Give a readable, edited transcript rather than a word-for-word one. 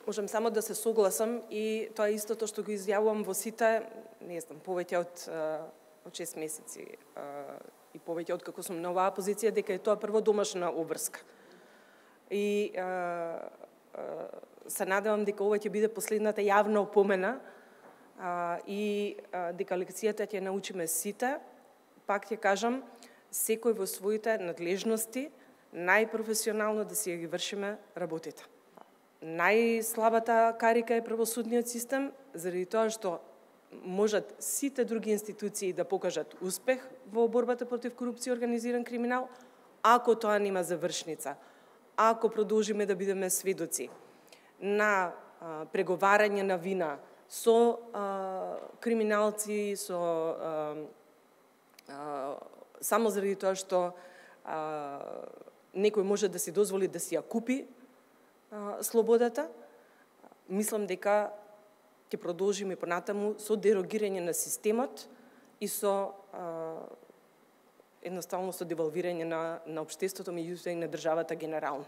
Можам само да се согласам и тоа е истото што го изјавувам во сите, не знам, повеќе од 6 месеци и повеќе од како сум на оваа позиција, дека е тоа прво домашна обврска. И се надевам дека ова ќе биде последната јавна опомена и дека лекцијата ќе научиме сите. Пак ќе кажам, секој во своите надлежности, најпрофесионално да си ги вршиме работите. Најслабата карика е правосудниот систем, заради тоа што можат сите други институции да покажат успех во борбата против корупција и организиран криминал, ако тоа нема завршница, ако продолжиме да бидеме сведоци на преговарање на вина со криминалци, само заради тоа што некој може да си дозволи да си ја купи слободата, мислам дека ќе продолжиме понатаму со дерогирање на системот и со едноставно со девалвирање на општеството, меѓутоа и на државата генерално.